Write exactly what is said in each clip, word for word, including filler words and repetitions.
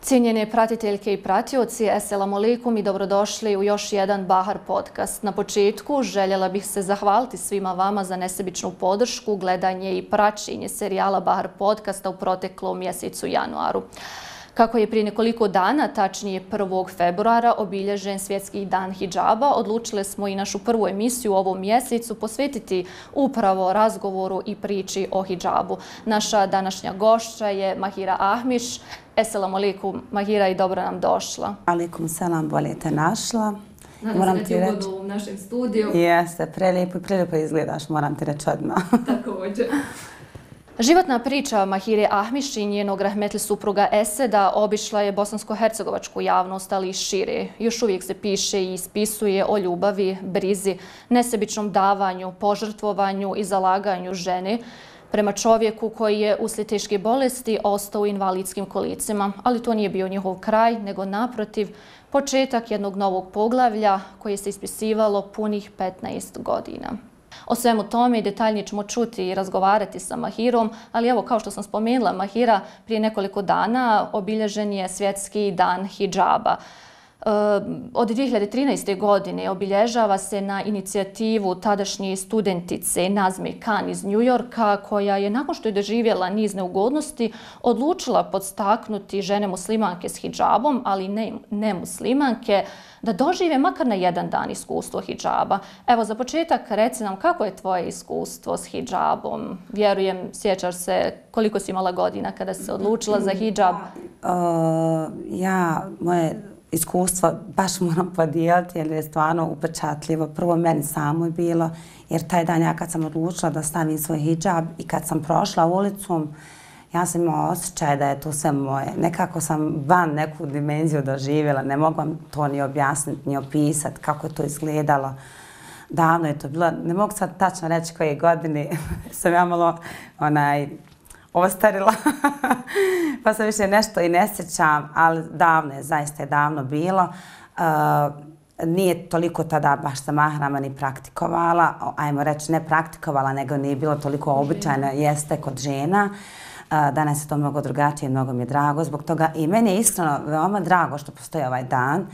Cijenjene pratiteljke i pratioci, eselamu alejkum i dobrodošli u još jedan Bahar podcast. Na početku željela bih se zahvaliti svima vama za nesebičnu podršku, gledanje i praćenje serijala Bahar podcasta u proteklom mjesecu januaru. Kako je prije nekoliko dana, tačnije prvog februara, obilježen Svjetski dan hidžaba, odlučili smo i našu prvu emisiju u ovom mjesecu posvetiti upravo razgovoru i priči o hidžabu. Naša današnja gošća je Mahira Ahmiš. Eselamu alejkum, Mahira, i dobro nam došla. Alejkum selam, bolje te našla. Nadam se da ti je ugodno u našem studiju. Jeste, prelijepo i prelijepo izgledaš, moram ti reći odmah. Također. Životna priča Mahire Ahmiš i njenog rahmetli supruga Eseda obišla je bosansko-hercegovačku javnost, ali i šire. Još uvijek se piše i ispisuje o ljubavi, brizi, nesebičnom davanju, požrtvovanju i zalaganju žene prema čovjeku koji je uslijed teške bolesti ostao u invalidskim kolicima. Ali to nije bio njihov kraj, nego naprotiv početak jednog novog poglavlja koje se ispisivalo punih petnaest godina. O svemu tome detaljnije ćemo čuti i razgovarati sa Mahirom, ali evo, kao što sam spomenula, Mahira, prije nekoliko dana obilježen je Svjetski dan hidžaba. Od dvije hiljade trinaeste. godine obilježava se na inicijativu tadašnje studentice Nazme Khan iz New Yorka, koja je nakon što je doživjela niz neugodnosti odlučila podstaknuti žene muslimanke s hidžabom, ali ne, ne muslimanke, da dožive makar na jedan dan iskustvo hidžaba. Evo, za početak reci nam kako je tvoje iskustvo s hidžabom. Vjerujem, sjećaš se koliko si imala godina kada si se odlučila za hidžab? Uh, ja, moje iskustvo baš moram podijeliti jer je stvarno upečatljivo. Prvo meni samo je bilo, jer taj dan ja kad sam odlučila da stavim svoj hidžab i kad sam prošla ulicom, ja sam imala osjećaj da je to sve moje. Nekako sam van neku dimenziju doživjela, ne mogu vam to ni objasniti, ni opisati kako je to izgledalo. Davno je to bilo, ne mogu sad tačno reći koje godine sam ja malo onaj, ostarila, pa sam više nešto i ne sjećam, ali davno je, zaista je davno bilo. Uh, nije toliko tada baš sa mahrama ni praktikovala, ajmo reći ne praktikovala, nego nije bilo toliko običajno, jeste kod žena. Uh, danas je to mnogo drugačije, mnogo mi je drago zbog toga i meni je iskreno veoma drago što postoji ovaj dan.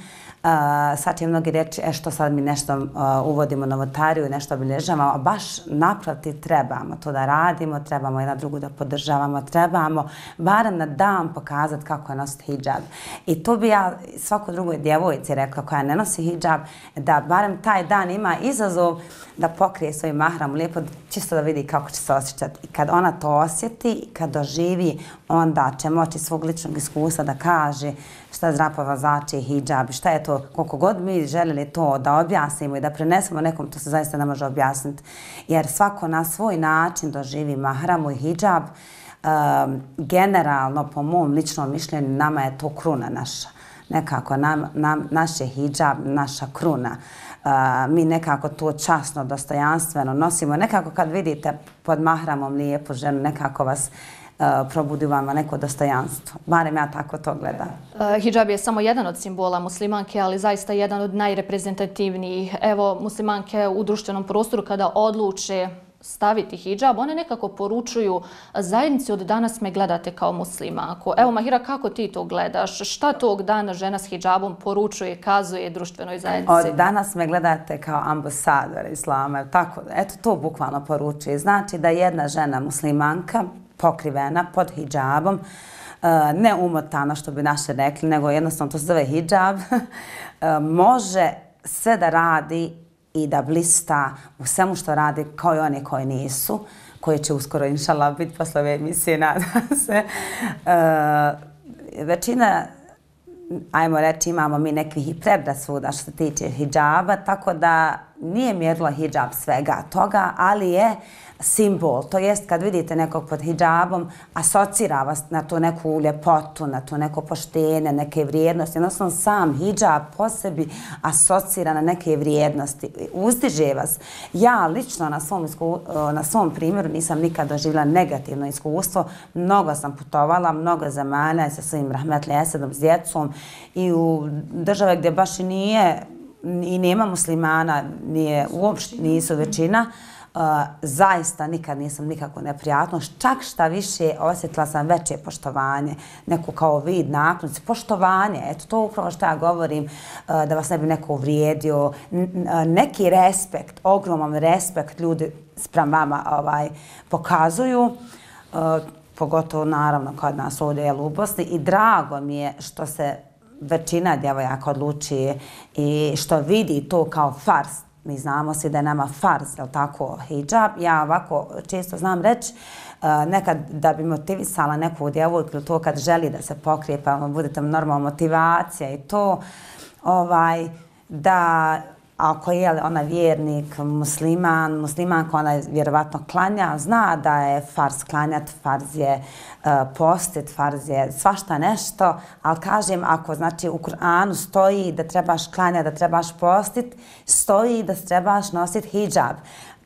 Uh, sad će mnogi reći e, što sad mi nešto uh, uvodimo novotariju i nešto obilježavamo, a baš naprotiv trebamo to da radimo, trebamo jedna drugu da podržavamo, trebamo barem na dan pokazati kako je nositi hidžab. I to bi ja svakoj drugoj djevojci rekla koja ne nosi hidžab, da barem taj dan ima izazov da pokrije svoj mahram lijepo, čisto da vidi kako će se osjećati. I kad ona to osjeti i kad doživi, onda će moći svog ličnog iskustva da kaže šta zapravo znači hidžab, šta je to, koliko god mi željeli to da objasnimo i da prenesemo nekom, to se zaista ne može objasniti. Jer svako na svoj način doživi mahramu i hidžab. Um, generalno, po mom ličnom mišljenju, nama je to kruna naša. Nekako nam, nam, naš je hidžab naša kruna. Uh, mi nekako to časno, dostojanstveno nosimo. Nekako kad vidite pod mahramom lijepu ženu, nekako vas Uh, probudi vama neko dostojanstvo. Barem ja tako to gledam. Uh, hidžab je samo jedan od simbola muslimanke, ali zaista jedan od najreprezentativnijih. Evo, muslimanke u društvenom prostoru kada odluče staviti hidžab, one nekako poručuju zajednici od danas me gledate kao muslimanku. Evo, Mahira, kako ti to gledaš? Šta tog dana žena s hidžabom poručuje, kazuje društvenoj zajednici? Od danas me gledate kao ambasador islama. Tako, eto, to bukvalno poručuje. Znači da jedna žena muslimanka pokrivena pod hidžabom, ne umotana što bi naše rekli, nego jednostavno to se zove hidžab, može sve da radi i da blista u svemu što radi kao i oni koji nisu, koji će uskoro inšallah biti posle ove emisije, nadam se. Većina, ajmo reći, imamo mi nekih i predrasuda što se tiče hidžaba, tako da nije mjerilo hidžab svega toga, ali je simbol. To jest kad vidite nekog pod hidžabom, asocira vas na tu neku ljepotu, na tu neko poštenje, neke vrijednosti. Jednostavno sam hidžab po sebi asocira na neke vrijednosti. Uzdiže vas. Ja lično na svom, isku, na svom primjeru nisam nikad doživjela negativno iskustvo. Mnogo sam putovala, mnogo zemalja sa svojim rahmetli Esedom, s djecom i u države gdje baš i nije i nema muslimana, nije, uopšte nisu većina. zaista nikad nisam nikako neprijatnost, čak šta više osjetila sam veće poštovanje, neku kao vid naklonosti, poštovanje, eto to upravo što ja govorim, da vas ne bi neko uvrijedio, neki respekt, ogroman respekt ljudi sprem vama ovaj, pokazuju, pogotovo naravno kod nas ovdje u Bosni i drago mi je što se većina djevojaka odluči i što vidi to kao fars. Mi znamo svi da je nama farz, jel tako, hijab. Ja ovako često znam reći, nekad da bi motivisala neku djevojku ili to kad želi da se pokrije, pa budete normalna motivacija i to, ovaj, da ako je ona vjernik, musliman, muslimanka, ona vjerovatno klanja, zna da je farz klanjat, farz je uh, postit, farz je svašta nešto, ali kažem, ako znači u Kur'anu stoji da trebaš klanjati, da trebaš postit, stoji da trebaš nositi hijab.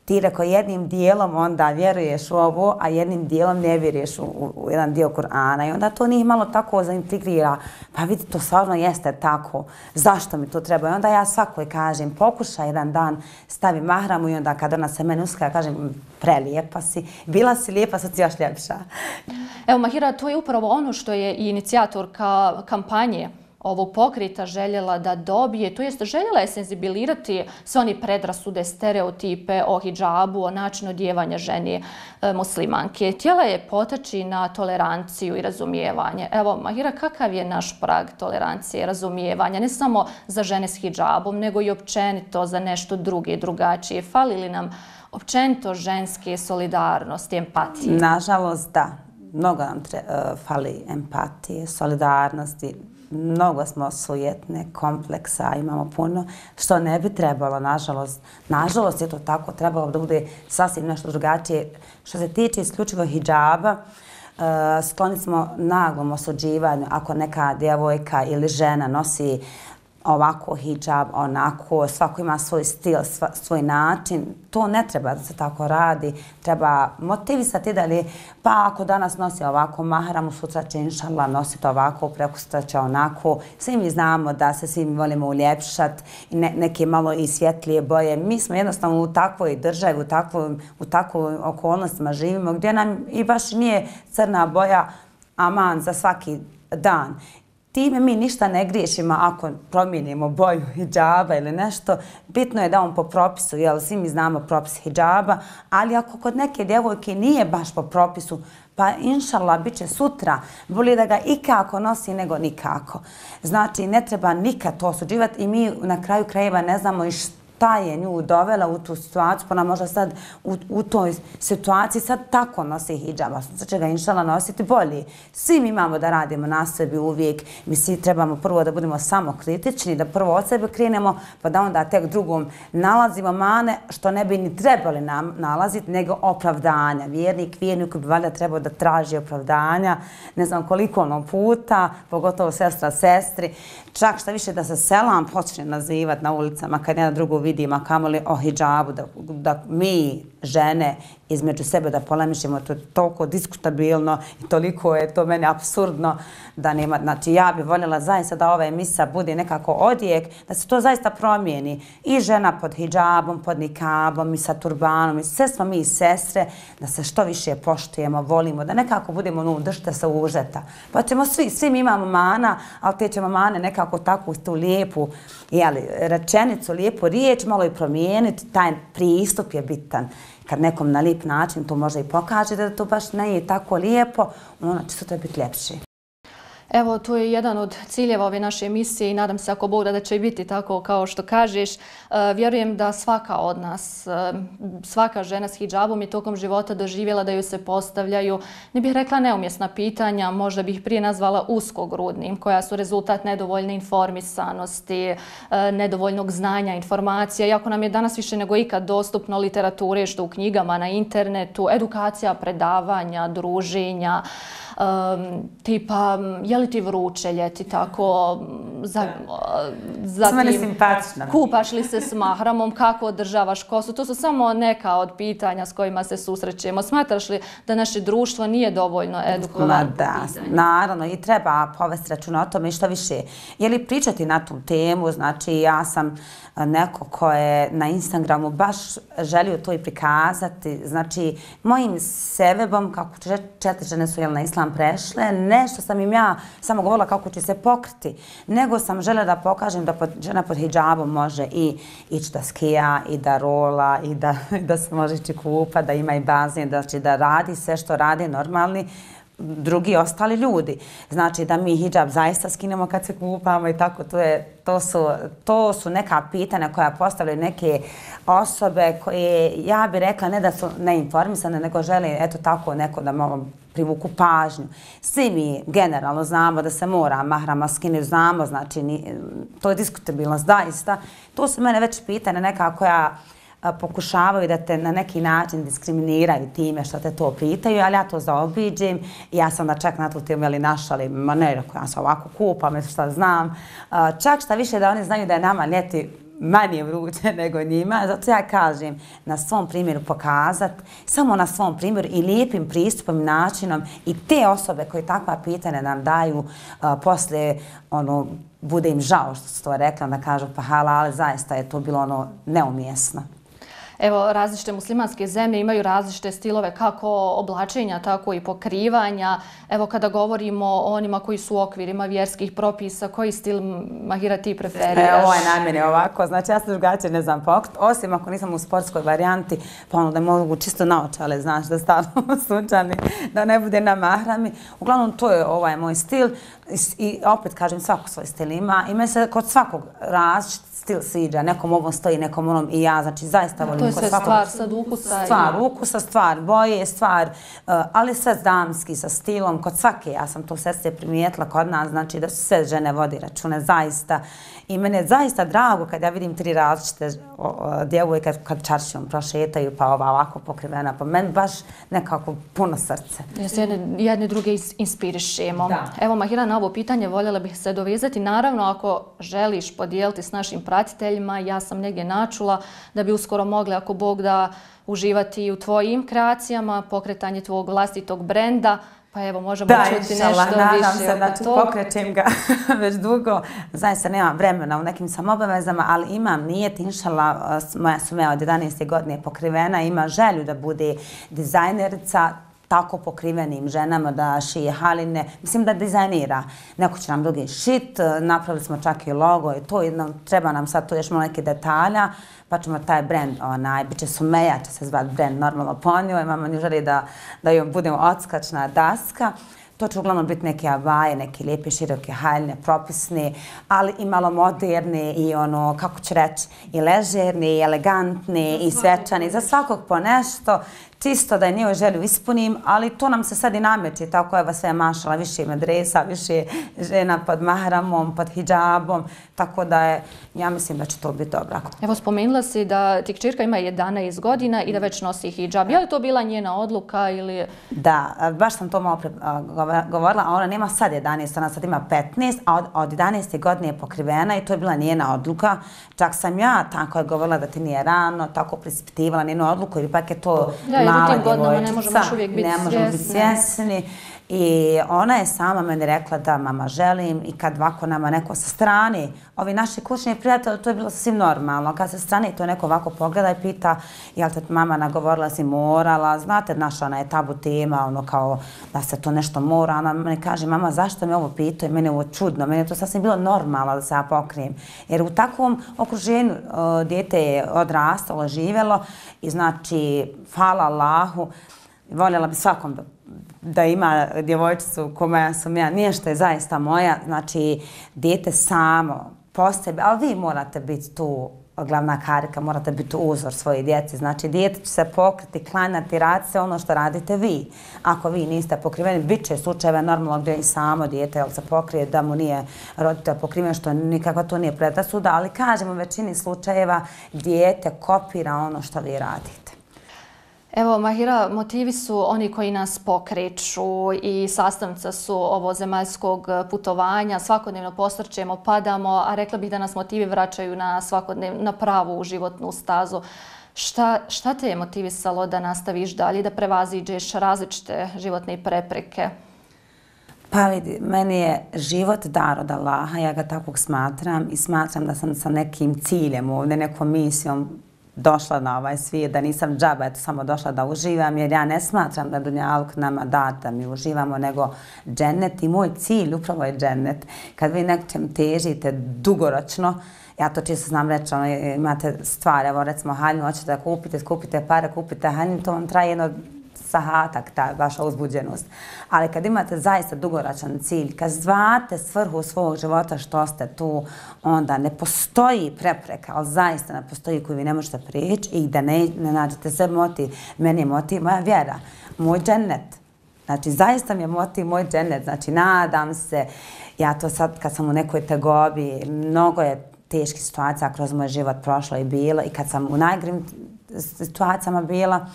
Ti reko jednim dijelom onda vjeruješ u ovo, a jednim dijelom ne vjeruješ u, u, u jedan dio Kur'ana. I onda to njih malo tako zaintrigrira. Pa vidi, to stvarno jeste tako. Zašto mi to treba? I onda ja svakoj kažem, pokušaj jedan dan, stavi mahramu i onda kad ona se meni uskaja, kažem, prelijepa si, bila si lijepa, sad si još ljepša. Evo, Mahira, to je upravo ono što je i inicijatorka kampanje ovog pokreta željela da dobije, to jest željela je senzibilirati sve one predrasude, stereotipe o hidžabu, o načinu odjevanja žene e, muslimanke. Htjela je potaći na toleranciju i razumijevanje. Evo, Mahira, kakav je naš prag tolerancije i razumijevanja, ne samo za žene s hidžabom, nego i općenito za nešto druge, drugačije? Fali li nam općenito ženske solidarnosti, empatije? Nažalost, da. Mnogo nam tre, uh, fali empatije, solidarnosti. Mnogo smo sujetne, kompleksa, imamo puno, što ne bi trebalo, nažalost. Nažalost je to tako, trebalo da bude sasvim nešto drugačije. Što se tiče isključivo hidžaba, uh, skloni smo naglom osuđivanju ako neka djevojka ili žena nosi ovako hijab, onako, svako ima svoj stil, sva, svoj način. To ne treba da se tako radi. Treba motivisati da li, pa ako danas nosi ovako mahramu, sutra će inšallah nositi ovako, prekosutra će onako. Svi mi znamo da se svi volimo uljepšati i ne, neke malo i svjetlije boje. Mi smo jednostavno u takvoj državi, u takvoj, u takvoj okolnostima živimo gdje nam i baš nije crna boja aman za svaki dan. Time mi ništa ne griješimo ako promijenimo boju hidžaba ili nešto. Bitno je da on po propisu, jel, svi mi znamo propis hidžaba, ali ako kod neke djevojke nije baš po propisu, pa inšallah bit će sutra, bolje da ga ikako nosi nego nikako. Znači, ne treba nikad to osuđivati i mi na kraju krajeva ne znamo i što ta je nju dovela u tu situaciju, pa ona možda sad u, u toj situaciji sad tako nosi hidžaba. Sad će ga inšala nositi bolji. Svi mi imamo da radimo na sebi uvijek. Mi svi trebamo prvo da budemo samo kritični, da prvo od sebe krenemo, pa da onda tek drugom nalazimo mane što ne bi ni trebali nam nalaziti, nego opravdanja. Vjernik, vjernik bi valjda trebao da traži opravdanja, ne znam koliko ono puta, pogotovo sestra sestri. Čak šta više da se selam počne nazivati na ulicama kad jedna drugu vidimo, a kamoli o hidžabu, da, da mi, žene, između sebe da polemišemo, to je toliko diskutabilno i toliko je to meni apsurdno da nema. Znači, ja bih voljela zaista da ova emisija bude nekako odjek, da se to zaista promijeni. I žena pod hidžabom, pod nikabom, i sa turbanom, i sve smo mi sestre, da se što više poštujemo, volimo, da nekako budemo, no, držite se užeta. Pa ćemo svi, svi mi imamo mana, ali te ćemo mane nekako tako tu lijepu, jeli, rečenicu, lijepu riječ, malo i promijeniti, taj pristup je bitan. Kad nekom na lijep način to može i pokaže da to baš ne je tako lijepo, ono će sutra biti ljepše. Evo, to je jedan od ciljeva ove naše emisije i nadam se ako Bog da, da će biti tako kao što kažeš. E, vjerujem da svaka od nas, e, svaka žena s hidžabom je tokom života doživjela da ju se postavljaju, ne bih rekla neumjesna pitanja, možda bih prije nazvala uskogrudnim, koja su rezultat nedovoljne informisanosti, e, nedovoljnog znanja, informacija. Iako nam je danas više nego ikad dostupno literature, što u knjigama, na internetu, edukacija, predavanja, druženja, Um, tipa, je li ti vruće ljeti, tako, zatim kupaš li se s mahramom, kako održavaš kosu. To su samo neka od pitanja s kojima se susrećemo. Smatraš li da naše društvo nije dovoljno edukovano? Da, naravno, i treba povesti računa o tome i što više. Je li pričati na tu temu, znači ja sam neko ko je na Instagramu baš želio to i prikazati, znači mojim sebebom, kako četiri žene su na islam prešle, nešto sam im ja samo govorila kako će se pokriti, nego sam željela da pokažem da žena pod hidžabom može i ići da skija, i da rola, i da se može ići kupa, da ima i bazen, znači da radi sve što radi normalni drugi ostali ljudi. Znači da mi hidžab zaista skinemo kad se kupamo i tako, to, je, to, su, to su neka pitanja koja postavljaju neke osobe koje, ja bih rekla, ne da su neinformisane, nego žele, eto tako, neko da malo privuku pažnju. Svi mi generalno znamo da se mora mahrama skinuti, znamo, znači to je diskutabilnost, zaista. To su mene već pitanja neka koja pokušavaju da te na neki način diskriminiraju time što te to pitaju, ali ja to zaobiđem. Ja sam da čak na tu temu našali, ma ne, ja se ovako kupam, šta znam. Čak šta više da oni znaju da je nama ljeti manje vruće nego njima. Zato ja kažem na svom primjeru pokazati, samo na svom primjeru i lijepim pristupom i načinom i te osobe koje takva pitanja nam daju poslije ono, bude im žao što su to rekla, da kažu pa hala, ali zaista je to bilo ono neumjesno. Evo, različite muslimanske zemlje imaju različite stilove kako oblačenja, tako i pokrivanja. Evo, kada govorimo o onima koji su u okvirima vjerskih propisa, koji stil, Mahira, ti preferiraš? Ovo je na mene ovako, znači ja se drugačije ne znam pokrit, osim ako nisam u sportskoj varijanti, pa ono da mogu čisto naočale, znaš, da stavimo sunčani, da ne bude na mahrami. Uglavnom, to je ovaj moj stil i opet kažem, svako svoj stil ima. Ima se kod svakog različit stil sviđa, nekom ovom stoji, nekom onom i ja, znači zaista volim. To je sve stvar sad ukusa. Stvar ukusa, stvar boje, stvar, ali sve damski, sa stilom, kod svake, ja sam to sestre primijetila kod nas, znači da su sve žene vodi račune, zaista. I mene je zaista drago kad ja vidim tri različite djevojke kad čaršijom prošetaju, pa ova ovako pokrivena, pa meni baš nekako puno srce. Jedne druge inspirišemo. Evo, Mahira, na ovo pitanje voljela bih se dovezati. Naravno, ako želiš podijeliti s našim pratiteljima, ja sam negdje načula da bi uskoro mogli, ako Bog da, uživati u tvojim kreacijama, pokretanje tvog vlastitog brenda. Pa evo, možemo čuti nešto više oko toga. Da, nadam se, znači pokrećem ga već dugo. Zaista nemam vremena u nekim sam obavezama, ali imam nijet, inšala, moja sumeja od jedanaeste godine pokrivena, ima želju da bude dizajnerica tako pokrivenim ženama, da šije haline, mislim da dizajnira. Neko će nam drugi šit, napravili smo čak i logo i to, treba nam sad tu još malo neke detalja, pa ćemo taj brand, onaj, bit će Sumeja, će se zvati brand normalno po njoj, imamo nju želi da, da joj budemo odskačna daska. To će uglavnom biti neke abaje, neke lijepe, široke haljne, propisne, ali i malo moderne i ono, kako ću reći, i ležerne, i elegantne, i svečane, za svakog po nešto. Čisto da je njoj želju ispunim, ali to nam se sad i nameće, tako je sve mašala, više ima dresa, više žena pod mahramom, pod hidžabom, tako da je, ja mislim da će to biti dobro. Evo, spomenula si da ti kćerka ima jedanaest godina i da već nosi hidžab. Je li to bila njena odluka ili... Da, baš sam to malo govorila, a ona nema sad jedanaest, ona sad ima petnaest, a od jedanaeste godine je pokrivena i to je bila njena odluka. Čak sam ja tako je govorila da ti nije rano, tako prispitivala njenu odluku, ili pak je to... U tim godinama ne možemo još uvijek biti svjesni. I ona je sama meni rekla da mama želim i kad ovako nama neko sa strane, ovi naši kućni prijatelji, to je bilo sasvim normalno. Kad sa strane to neko ovako pogleda i pita jel te mama nagovorila si morala, znate naša ona je tabu tema, ono kao da se to nešto mora. Ona meni kaže mama zašto me ovo pita i meni je ovo čudno, meni je to sasvim bilo normalno da se ja pokrijem. Jer u takvom okruženju dijete je odrastalo, živjelo i znači hvala Allahu, voljela bi svakom da da ima djevojčicu koja sam ja, nije što je zaista moja, znači dijete samo po sebi, ali vi morate biti tu glavna karika, morate biti uzor svoje djeci, znači dijete će se pokriti, klanjati, raditi se ono što radite vi. Ako vi niste pokriveni, bit će slučajeva normalno gdje i samo dijete se pokrije da mu nije roditelj pokriven, što nikako to nije predrasuda, ali kažemo u većini slučajeva dijete kopira ono što vi radite. Evo, Mahira, motivi su oni koji nas pokreću i sastavnica su ovozemaljskog putovanja. Svakodnevno posrćemo, padamo, a rekla bih da nas motivi vraćaju na svakodnevno, na pravu životnu stazu. Šta, šta te je motivisalo da nastaviš dalje, da prevaziđeš različite životne prepreke? Pa vidi, meni je život dar od Allaha, ja ga takvog smatram i smatram da sam sa nekim ciljem ovdje, nekom misijom došla na ovaj svijet, da nisam džaba, eto samo došla da uživam, jer ja ne smatram da dunjaluk nama da da mi uživamo, nego džennet i moj cilj upravo je džennet. Kad vi nečem težite dugoročno, ja to čisto znam reći, ono, imate stvari, evo recimo haljinu, hoćete da kupite, skupite pare, kupite haljinu, to vam traje jedno sahatak, ta vaša uzbuđenost. Ali kad imate zaista dugoročan cilj, kad znate svrhu svog života što ste tu, onda ne postoji prepreka, ali zaista ne postoji koju vi ne možete prijeći i da ne, ne nađete sve motiv. Meni je motiv moja vjera, moj džennet. Znači, zaista mi je motiv moj džennet. Znači, nadam se, ja to sad kad sam u nekoj tegobi, mnogo je teških situacija kroz moj život prošlo i bilo i kad sam u najgrim situacijama bila,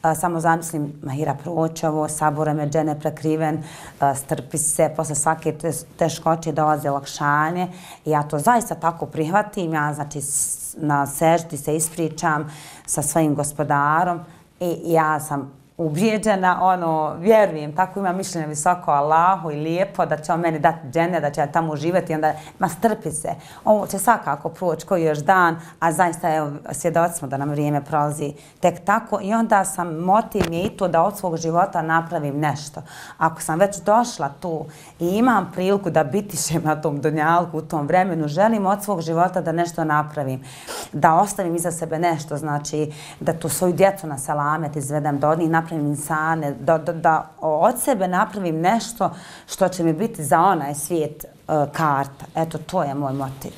Uh, samo zamislim, Mahira, proći ovo, saburom je džene prekriven, uh, strpi se, posle svake teškoće dolaze olakšanje i ja to zaista tako prihvatim, ja znači na seždi se ispričam sa svojim gospodarom i ja sam ubijeđena, ono, vjerujem, tako imam mišljenje visoko Allahu i lijepo da će on meni dati džene, da će ja tamo uživati i onda, ma strpi se, ovo će svakako proći koji još dan, a zaista evo, svjedoci smo da nam vrijeme prolazi tek tako i onda sam, motiv mi je i to da od svog života napravim nešto. Ako sam već došla tu i imam priliku da bitišem na tom dunjalku u tom vremenu, želim od svog života da nešto napravim, da ostavim iza sebe nešto, znači da tu svoju djecu na selamet izvedem, da od njih napravim insane, da, da, da od sebe napravim nešto što će mi biti za onaj svijet uh, karta. Eto, to je moj motiv.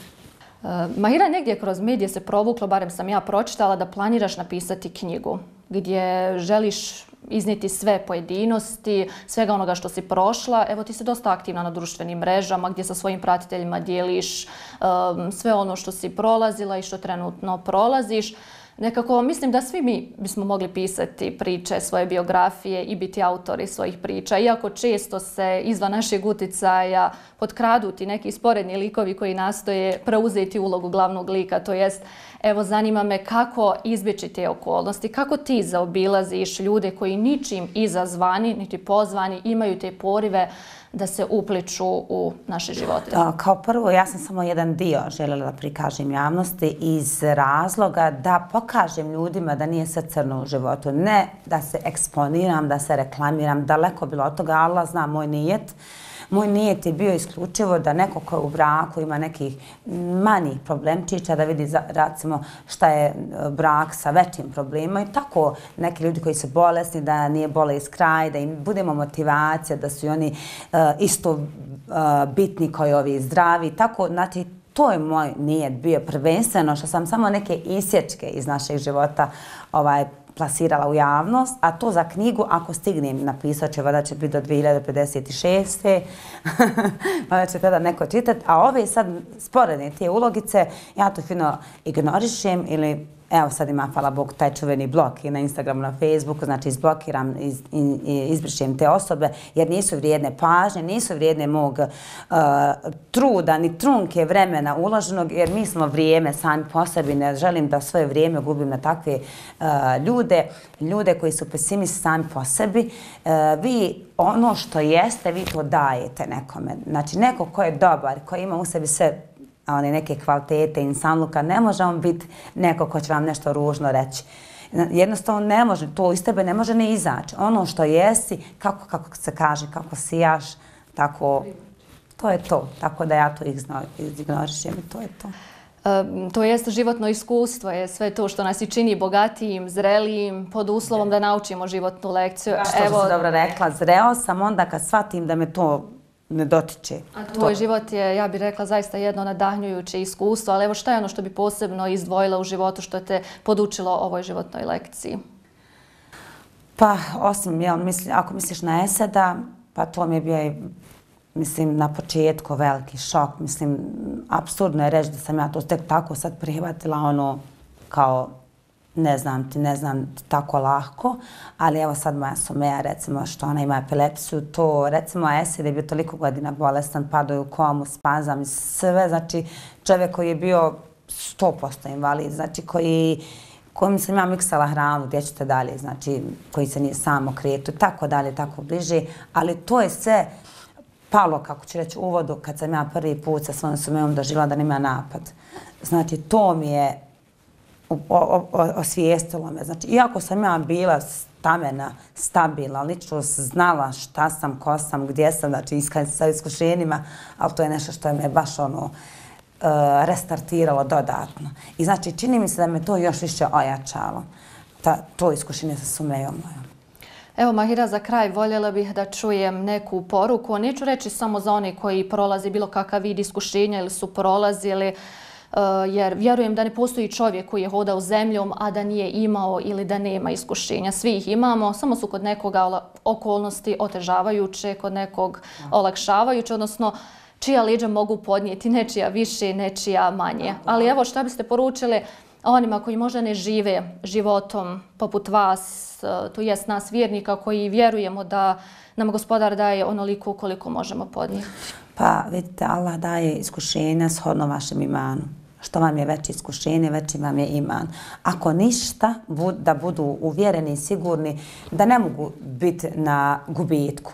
Uh, Mahira, negdje kroz medije se provuklo, barem sam ja pročitala, da planiraš napisati knjigu gdje želiš iznijeti sve pojedinosti, svega onoga što si prošla. Evo, ti si dosta aktivna na društvenim mrežama gdje sa svojim pratiteljima dijeliš um, sve ono što si prolazila i što trenutno prolaziš. Nekako mislim da svi mi bismo mogli pisati priče, svoje biografije i biti autori svojih priča. Iako često se izvan našeg uticaja potkradu ti neki sporedni likovi koji nastoje preuzeti ulogu glavnog lika. To jest, evo, zanima me kako izbjeći te okolnosti, kako ti zaobilaziš ljude koji ničim izazvani, niti pozvani, imaju te porive da se upliču u naše živote? Kao prvo, ja sam samo jedan dio željela da prikažem javnosti iz razloga da pokažem ljudima da nije sve crno u životu. Ne da se eksponiram, da se reklamiram, daleko bilo od toga, Allah zna moj nijet. Moj nijet je bio isključivo da neko ko je u braku ima nekih manjih problemčića, da vidi recimo šta je brak sa većim problemima i tako neki ljudi koji su bolesni, da nije bolest kraj, da im budemo motivacija, da su oni uh, isto uh, bitni kao ovi zdravi. Tako, znači, to je moj nijet bio prvenstveno što sam samo neke isječke iz našeg života ovaj, plasirala u javnost, a to za knjigu, ako stignem napisat će, vada će biti do dvije hiljade pedeset šeste. Vada će tada neko čitati, a ove sad sporedne te ulogice, ja to fino ignorišem ili evo sad ima, hvala Bogu, taj čuveni blok i na Instagramu, na Facebooku, znači izblokiram, iz, iz, izbrišem te osobe jer nisu vrijedne pažnje, nisu vrijedne mog uh, truda, ni trunke vremena uloženog jer mi smo vrijeme sami po sebi, ne želim da svoje vrijeme gubim na takve uh, ljude, ljude koji su pesimisti sami po sebi. Uh, vi ono što jeste, vi to dajete nekome. Znači neko ko je dobar, ko ima u sebi sve one neke kvalitete, insanluka, ne može on biti neko ko će vam nešto ružno reći. Jednostavno ne može, to iz tebe ne može ne izaći. Ono što jesi, kako, kako se kaže, kako sijaš, tako, to je to. Tako da ja to ignorišem i to je to. Um, to jest životno iskustvo, je sve to što nas i čini bogatijim, zrelijim, pod uslovom da naučimo životnu lekciju. Ja, što Evo, si dobro rekla, zreo sam onda kad shvatim da me to ne dotiče. A tvoj život je, ja bih rekla, zaista jedno nadahnjujuće iskustvo, ali evo šta je ono što bi posebno izdvojila u životu što te podučilo ovoj životnoj lekciji? Pa, osim, jel, misli, ako misliš na Eseda, pa to mi je bio, mislim, na početku veliki šok. Mislim, apsurdno je reći da sam ja to tek tako sad prihvatila, ono, kao ne znam ti, ne znam ti tako lahko, ali evo sad moja Sumeja, recimo, što ona ima epilepsiju, to, recimo, Esed je bio toliko godina bolestan, padao je u komu, spazam i sve, znači, čovjek koji je bio sto posto invalid, znači, koji, kojim sam ja miksala hranu, gdje ćete dalje, znači, koji se nije samo kretu, tako dalje, tako bliže, ali to je sve palo, kako ću reći, u uvodu, kad sam ja prvi put sa svojom Sumejom doživjela da nema napad. Znači, to mi je osvijestilo me. Znači, iako sam ja bila stamena, stabilna, lično znala šta sam, ko sam, gdje sam, znači sa iskušenjima, ali to je nešto što je me baš ono restartiralo dodatno. I znači, čini mi se da me to još više ojačalo, to iskušenje sa Sumejom mojom. Evo, Mahira, za kraj voljela bih da čujem neku poruku. Neću reći samo za one koji prolazi bilo kakav vid iskušenja ili su prolazili, jer vjerujem da ne postoji čovjek koji je hodao zemljom, a da nije imao ili da nema iskušenja. Svi ih imamo, samo su kod nekoga okolnosti otežavajuće, kod nekog olakšavajuće, odnosno čija leđa mogu podnijeti, nečija više, nečija manje. Ali evo, šta biste poručili onima koji možda ne žive životom poput vas, to jest nas vjernika koji vjerujemo da nam Gospodar daje onoliko koliko možemo podnijeti? Pa vidite, Allah daje iskušenja shodno vašem imanu. Što vam je veće iskušenje, veći vam je iman. Ako ništa, da budu uvjereni i sigurni da ne mogu biti na gubitku.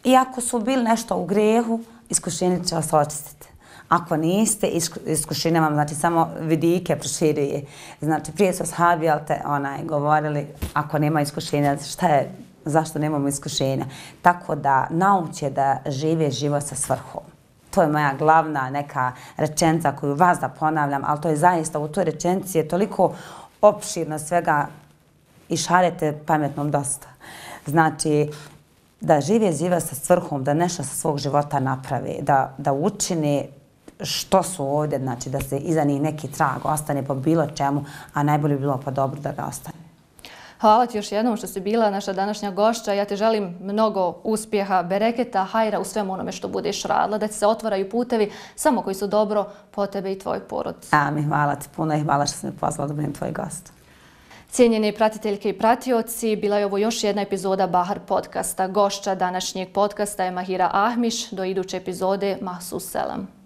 I ako su bili nešto u grehu, iskušenje će vas očistiti. Ako niste, iskušenje vam znači samo vidike proširuje. Znači, prije su ashabi, ali te onaj, govorili, ako nema iskušenja, šta je, zašto nemamo iskušenja? Tako da nauče da žive život sa svrhom. To je moja glavna neka rečenica koju vas da ponavljam, ali to je zaista u toj rečenici je toliko opširno svega i šarete pametnom dosta. Znači, da žive život sa svrhom, da nešto sa svog života naprave, da, da učini što su ovdje, znači da se iza njih neki trag ostane po bilo čemu, a najbolje bi bilo pa dobro da ga ostane. Hvala ti još jednom što si bila naša današnja gošća. Ja te želim mnogo uspjeha, bereketa, hajra u svemu onome što budeš radila, da ti se otvaraju putevi samo koji su dobro po tebe i tvoj porod. Amin, hvala ti puno i hvala što si me pozvala da budem tvoj gost. Cijenjeni pratiteljke i pratioci, bila je ovo još jedna epizoda Bahar podcasta. Gošća današnjeg podcasta je Mahira Ahmiš. Do iduće epizode, mahsus selam.